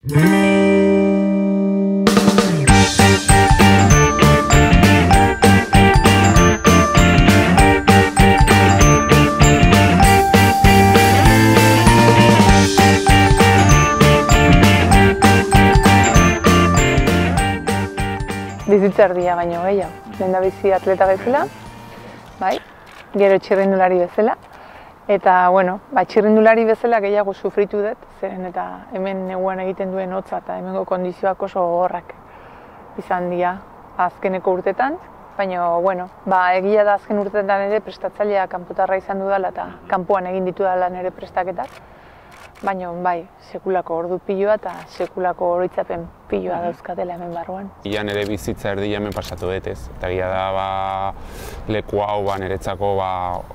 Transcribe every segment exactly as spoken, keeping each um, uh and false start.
Bizitza erdia baino gehiago. Lehendabizi atleta bezala, bai, gero txirrindulari bezala. Eta, bueno, ba, txirrindulari bezala gehiago sufritu dut, zeren eta hemen neguan egiten duen hotza eta hemengo kondizioak oso gogorrak izan dira azkeneko urtetan. Baina, bueno, ba, egia da azken urtetan ere prestatzailea kanpotarra izan dudala eta kanpoan egin ditudala nire prestaketak. Baina, bai, sekulako ordu piloa eta sekulako oroitzapen piloa dauzkatela hemen barruan. Ia nire bizitza erdia hemen pasatu dut ez. Eta egia da, ba, leku hau ba, niretzako ba,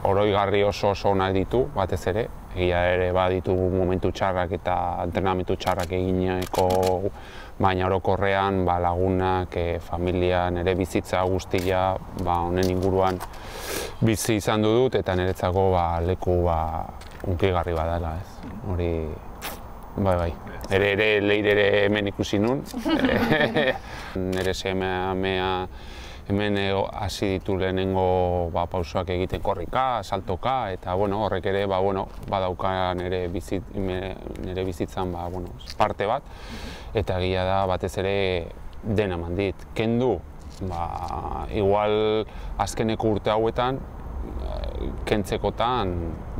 oroigarri oso oso onak ditu, batez ere. Egia ere ba, ditu momentu txarrak eta entrenamentu txarrak egineko, baina orokorrean ba, lagunak, e, familia, nire bizitza guztia ba, honen inguruan bizi izan dut eta niretzako ba, leku ba, unkigarri badala, ez. Hori, bai, bai. Ere, ere, leire ere hemen ikusi nun. Nire semea hemen hasi ditu lehenengo ba, pausoak egiten korrika, saltoka, eta bueno, horrek ere ba, bueno, badauka nire, bizit, nire bizitzan ba, bueno, parte bat, eta egia da batez ere dena eman dit. Kendu, ba, igual azkeneko urte hauetan, kentzekotan,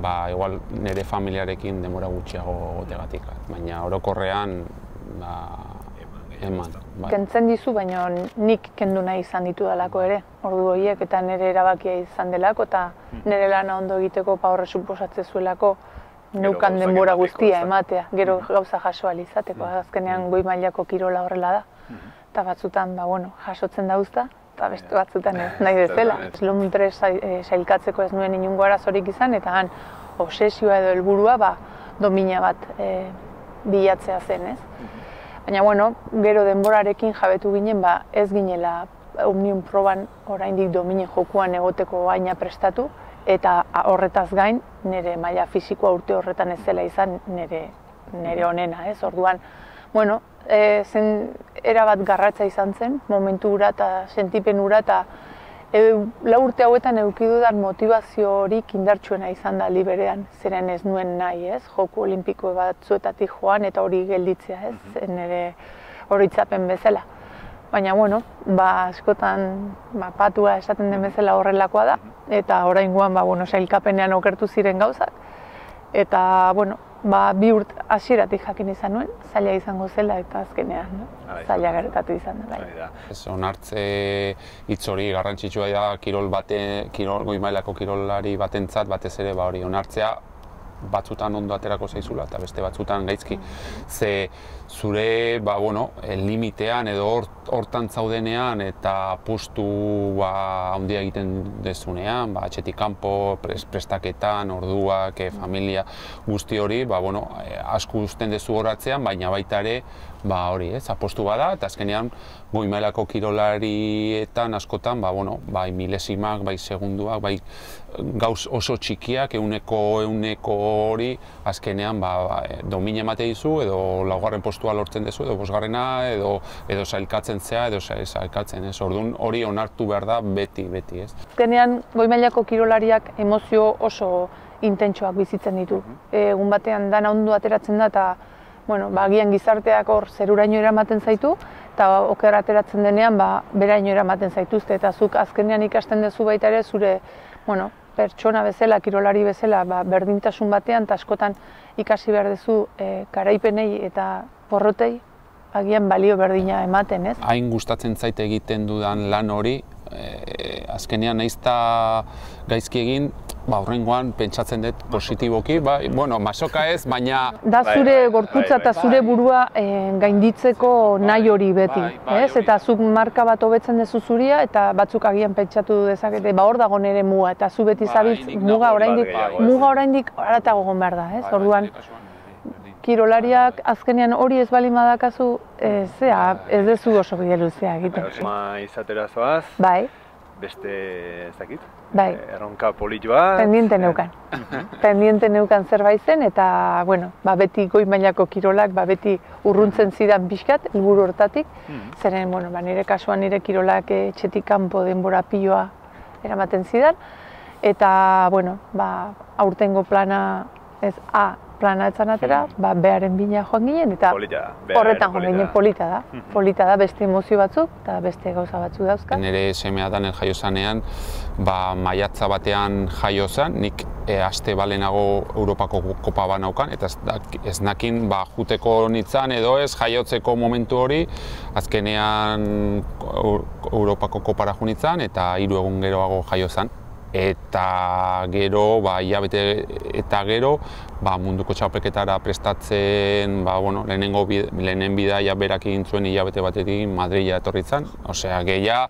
ba, igual nire familiarekin denbora gutxiago gotegatik, baina orokorrean, ba, eman. Bai. Kentzen dizu, baina nik kendu nahi izan ditudalako ere, ordu horiek, eta nire erabakia izan delako, eta nire lana ondo egiteko pa horre suposatze zuelako neukan denbora guztia ematea, gero gauza jaso ahal izateko, azkenean goi mailako kirola horrela da, eta batzutan, ba, bueno, jasotzen dauzta, eta beste batzutan ez nahi bezala. Lomprez sailkatzeko ez nuen inungo arazorik izan, eta han obsesioa edo helburua ba, domina bat e, bilatzea zen, ez? Baina, bueno, gero denborarekin jabetu ginen, ba, ez ginela Omnium proban oraindik dominen jokuan egoteko baina prestatu, eta horretaz gain, nire maila fisikoa urte horretan ez zela izan nire, nire onena, ez? Orduan, bueno, e, zen erabat garratza izan zen, momentu hura eta sentipen hura, eta e, lau urte hauetan eduki dudan motivazio horik indartsuena izan da liberean, zeren ez nuen nahi, ez? Joku olimpiko batzuetatik joan eta hori gelditzea, ez? Nire oroitzapen bezala. Baina, bueno, ba, askotan ba, patua esaten den bezala horrelakoa da, eta oraingoan ba, bueno, sailkapenean okertu ziren gauzak, eta, bueno, ba, bi urt hasieratik jakin izan nuen, zaila izango zela eta azkenean, no? Zaila gertatu izan da. Bai. Ez onartze hitz hori garrantzitsua da kirol bate, kirol goi mailako kirolari batentzat batez ere ba hori onartzea batzutan ondo aterako zaizula eta beste batzutan gaizki. Ze zure ba, bueno, limitean edo hortan zaudenean eta postu ba, handia egiten dezunean, ba, atxetik kanpo, prestaketan, orduak, e, familia guzti hori, ba, bueno, asko uzten dezu horatzean, baina baita ere ba, hori, ez, apostu bada, eta azkenean goi mailako kirolarietan askotan, ba, bueno, bai milesimak, bai segunduak, bai gauz oso txikiak, euneko euneko hori, azkenean ba, ba, domina emate dizu, edo laugarren postua lortzen dezu, edo bosgarrena, edo, edo sailkatzen zea, edo sailkatzen, ez, orduan hori onartu behar da beti, beti, ez. Azkenean, goi mailako kirolariak emozio oso intentsoak bizitzen ditu. Egun batean dana ondo ateratzen da, eta bueno, ba, agian gizarteak hor zeruraino eramaten zaitu, eta oker ateratzen denean, ba, beraino eramaten zaituzte, eta zuk azkenean ikasten duzu baita ere zure, bueno, pertsona bezala, kirolari bezala, ba, berdintasun batean, eta askotan ikasi behar duzu e, garaipenei eta porrotei agian balio berdina ematen, ez? Hain gustatzen zait egiten dudan lan hori, e, azkenean naizta gaizki egin, ba, horrengoan pentsatzen dut positiboki, ba, bueno, masoka ez, baina... Da zure gorputza eta zure burua e, gainditzeko nahi hori beti, ez? Eta zuk marka bat hobetzen duzu zuria, eta batzuk agian pentsatu dezakete, ba, hor dago nire muga, eta zu beti zabitz muga oraindik, muga oraindik haratago egon behar da, ez? Orduan, kirolariak azkenean hori ez bali madakazu, ez, ez duzu oso bide luzea egiten. Ma izatera zoaz. Bai. beste, ez dakit, bai. erronka politoa. Pendiente neukan. Pendiente neukan zerbait zen, eta, bueno, ba, beti goi mailako kirolak, ba, beti urruntzen zidan pixkat, helburu hortatik. Zeren, bueno, ba, nire kasuan nire kirolak etxetik kanpo denbora piloa eramaten zidan. Eta, bueno, ba, aurtengo plana, ez A, plana etzan atera, ba, bearen bina joan ginen, eta horretan joan ginen polita da. Polita da beste emozio batzuk, eta beste gauza batzuk dauzka. Nire semea da nire jaio zanean, ba, maiatza batean jaio zan, nik e, aste balenago Europako kopa banaukan, eta ez, ez nakin ba, juteko nitzan edo ez jaiotzeko momentu hori, azkenean Europako kopara jo nitzan, eta hiru egun geroago jaio zan. Eta gero, ba, hilabete eta gero, ba, munduko txapelketara prestatzen, ba, bueno, lehenengo bid, lehenen bidaia berak egin zuen hilabete batetik Madrila etorri zen. Osea, gehia,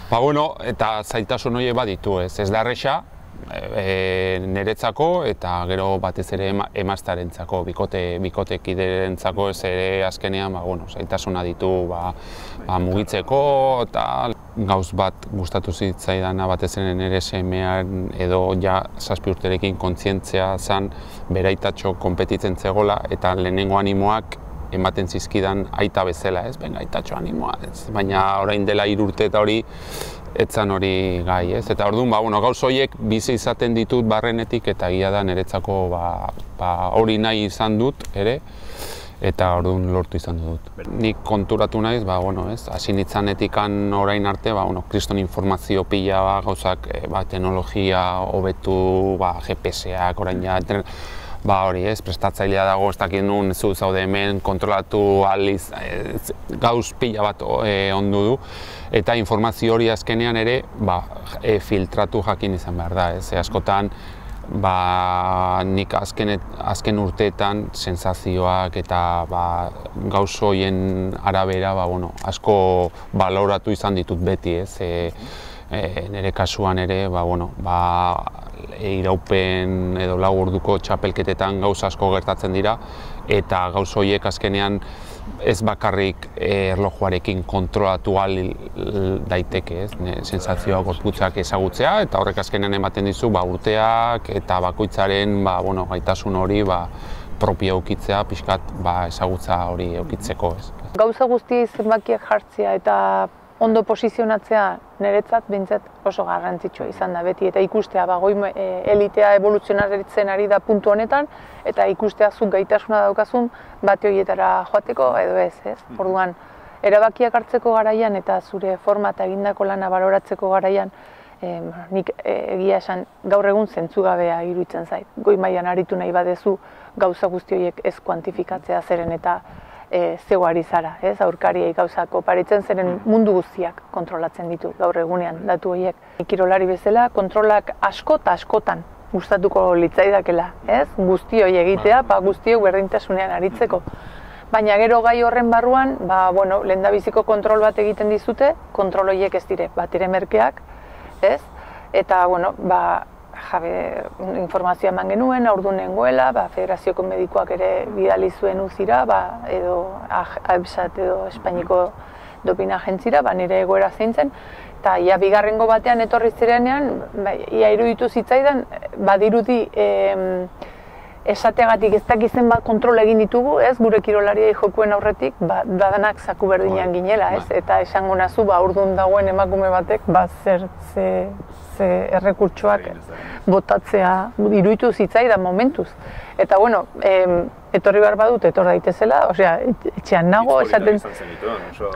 ba, bueno, eta zailtasun horiek baditu, ez, ez da erresa, e, niretzako eta gero batez ere ema, emaztarentzako, bikote, bikotekiderentzako ez ere azkenean, ba, bueno, zailtasuna ditu, ba, ba, mugitzeko eta gauz bat gustatu zitzaidana batez ere nire semean edo ja zazpi urterekin kontzientzia zan beraitatxo konpetitzen zegoela eta lehenengo animoak ematen zizkidan aita bezala, ez? Benga, aitatxo animoa, ez? Baina orain dela hiru urte eta hori etzan hori gai, ez? Eta orduan, ba, bueno, gauz horiek bizi izaten ditut barrenetik eta egia da niretzako ba, ba, hori nahi izan dut ere. Eta orduan lortu izan dut. Nik konturatu naiz, ba, bueno, ez, hasi nitzanetikan orain arte, ba, bueno, kriston informazio pila, ba, gauzak, ba, teknologia hobetu, ba, G P S-ak orain ja, ba, hori, ez, prestatzailea dago, ez dakit nun, zu zaude hemen, kontrolatu aliz, ez, gauz pila bat e, ondu du. Eta informazio hori azkenean ere, ba, e, filtratu jakin izan behar da, ez, e, askotan, ba, nik azken, azken urteetan sensazioak eta ba, gauz horien arabera ba, bueno, asko baloratu izan ditut beti, ez? E, e, nire kasuan ere, ba, bueno, ba, iraupen edo lau orduko txapelketetan gauz asko gertatzen dira eta gauz horiek azkenean ez bakarrik erlojuarekin kontrolatu ahal daiteke, ez? Sensazioak, gorputzak ezagutzea eta horrek azkenean ematen dizu ba, urteak eta bakoitzaren ba, bueno, gaitasun hori ba, propio eukitzea, pixkat ba, ezagutza hori eukitzeko. Ez? Gauza guzti zenbakiak jartzea eta ondo posizionatzea niretzat behintzat oso garrantzitsua izan da beti eta ikustea ba, goi elitea evoluzionaritzen ari da puntu honetan eta ikustea zuk gaitasuna daukazun bate horietara joateko edo ez, ez? Orduan, erabakiak hartzeko garaian eta zure forma eta egindako lana baloratzeko garaian eh, nik egia esan gaur egun zentzugabea iruditzen zait. Goi mailan aritu nahi badezu gauza guzti horiek ez kuantifikatzea zeren eta E, zeu ari zara, ez, aurkariei gauzak oparitzen zeren mundu guztiak kontrolatzen ditu gaur egunean datu horiek. Kirolari bezala kontrolak asko eta askotan gustatuko litzaidakela, ez, guzti hori egitea, ba, guztiok berdintasunean aritzeko. Baina gero gai horren barruan, ba, bueno, lehendabiziko kontrol bat egiten dizute, kontrol horiek ez dire, bat ere merkeak, ez, eta, bueno, ba, jabe, informazioa eman genuen, aurduan nengoela, ba, federazioko medikoak ere bidali zuen uzira, ba, edo AEBSat edo Espainiko dopina agentzira, ba, nire egoera zein zen, eta ia bigarrengo batean etorri zirenean, ba, ia iruditu zitzaidan, badirudi em, esateagatik ez dakizen bat kontrol egin ditugu, ez, gure kirolariei jokuen aurretik, ba, dadanak zaku berdinean ginela, ez, eta esango nazu, ba, aurduan dagoen emakume batek, ba, zer, ze, ze errekurtsoak botatzea iruditu zitzaidan momentuz. Eta, bueno, em, etorri behar badut, etor daitezela, osea, etxean nago, esaten...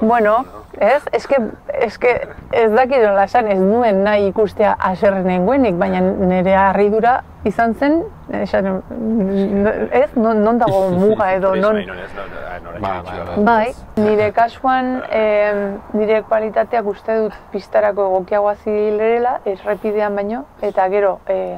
Bueno, ez, eske, eske ez dakit nola esan, ez nuen nahi ikustea haserre nengoenik, baina nire harridura izan zen, esan, ez, non, non dago muga edo, non... Bai, nire kasuan, eh, nire kualitateak uste dut pistarako egokiagoa zilerela, errepidean baino, eta gero, eh,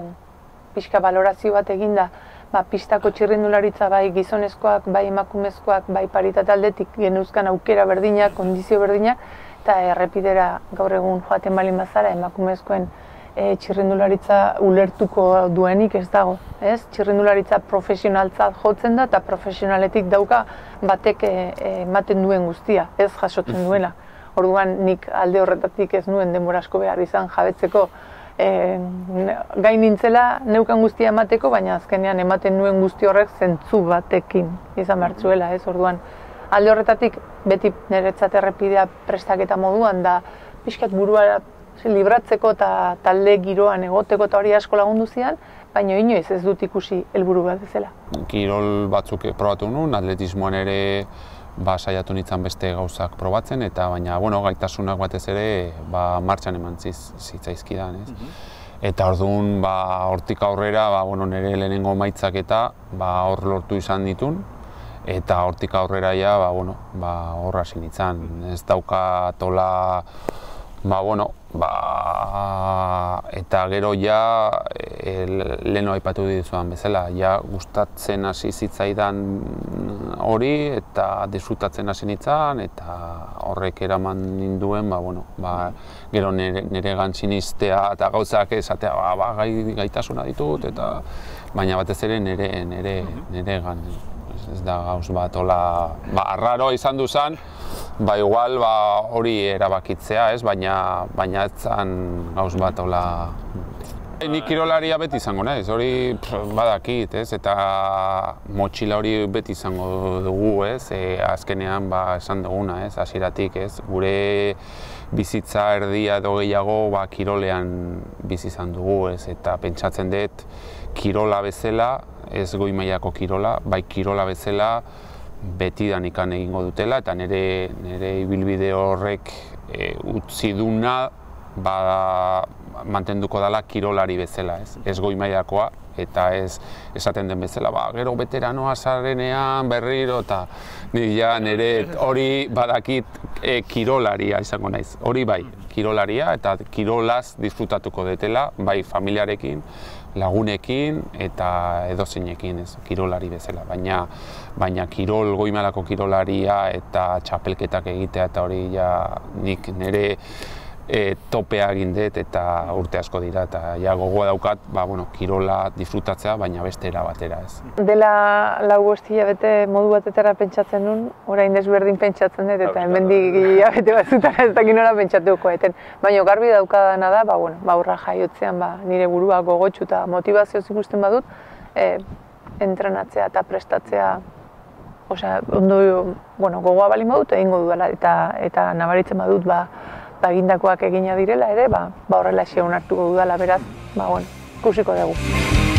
pixka balorazio bat eginda, ba, pistako txirrindularitza bai gizonezkoak, bai emakumezkoak, bai paritate aldetik genuzkan aukera berdinak, kondizio berdinak, eta errepidera gaur egun joaten balin bazara emakumezkoen e, txirrindularitza ulertuko duenik ez dago. Ez? Txirrindularitza profesionaltzat jotzen da eta profesionaletik dauka batek ematen duen guztia, ez jasotzen duela. Orduan nik alde horretatik ez nuen denbora asko behar izan jabetzeko e, gain nintzela neukan guztia emateko, baina azkenean ematen nuen guzti horrek zentzu batekin izan behar zuela, ez? Orduan alde horretatik beti niretzat errepidea prestaketa moduan da pixkat burua libratzeko eta talde giroan egoteko eta hori asko lagundu zian, baina inoiz ez dut ikusi helburu bat bezala. Kirol batzuk probatu nuen, atletismoan ere ba, saiatu nintzen beste gauzak probatzen, eta baina bueno, gaitasunak batez ere ba, martxan eman zitzaizkidan. Ez? Eta orduan ba, hortik aurrera ba, bueno, nire lehenengo emaitzak eta ba, hor lortu izan ditun, eta hortik aurrera ja, ba, bueno, ba, hor hasi nintzen. Ez daukatola, ba, bueno, ba, eta gero ja e, leheno aipatu dizudan bezala, ja gustatzen hasi zitzaidan hori eta disfrutatzen hasi nintzen, eta horrek eraman ninduen, ba, bueno, ba, gero nire, niregan sinistea eta gauzak esatea, ba, ba, gai, gaitasuna ditut, eta baina batez ere nire, nire, niregan. Ez da gauz bat, hola, ba, arraroa izan duzan, ba, igual, ba, hori erabakitzea, ez, baina, baina ez zan gauz bat, hola. Nik kirolaria beti izango naiz, hori pff, badakit, ez, eta motxila hori beti izango dugu, ez, e, azkenean, ba, esan duguna, ez, hasieratik, ez, gure bizitza erdia edo gehiago, ba, kirolean bizi izan dugu, ez, eta pentsatzen dut, kirola bezala, ez goi mailako kirola, bai kirola bezala betidanik egingo dutela, eta nire, nire ibilbide horrek e, utzi duna ba, mantenduko dela kirolari bezala, ez, ez goi mailakoa, eta ez esaten den bezala, ba, gero veteranoa zarenean berriro, eta ja, nire hori badakit e, kirolaria izango naiz, hori bai, kirolaria, eta kirolaz disfrutatuko detela, bai familiarekin, lagunekin eta edozeinekin, ez, kirolari bezala, baina baina kirol, goi mailako kirolaria eta txapelketak egitea eta hori ja nik nire e, topea egin dut eta urte asko dira, eta ja gogoa daukat, ba, bueno, kirola disfrutatzea, baina beste era batera, ez. Dela lau bost hilabete modu batetara pentsatzen nun, orain desberdin pentsatzen dut, eta hemendik hilabete batzutara ez dakit nola pentsatuko eten. Baina garbi daukadana da, ba, bueno, ba, aurra jaiotzean ba, nire burua gogotsu eta motivazioz ikusten badut, e, entrenatzea eta prestatzea, osea, ondo, bueno, gogoa balin badut egingo dudala, eta, eta nabaritzen badut, ba, ba, egindakoak egina direla ere, ba, ba horrela xe onartuko dudala, beraz, ba, bueno, ikusiko dugu.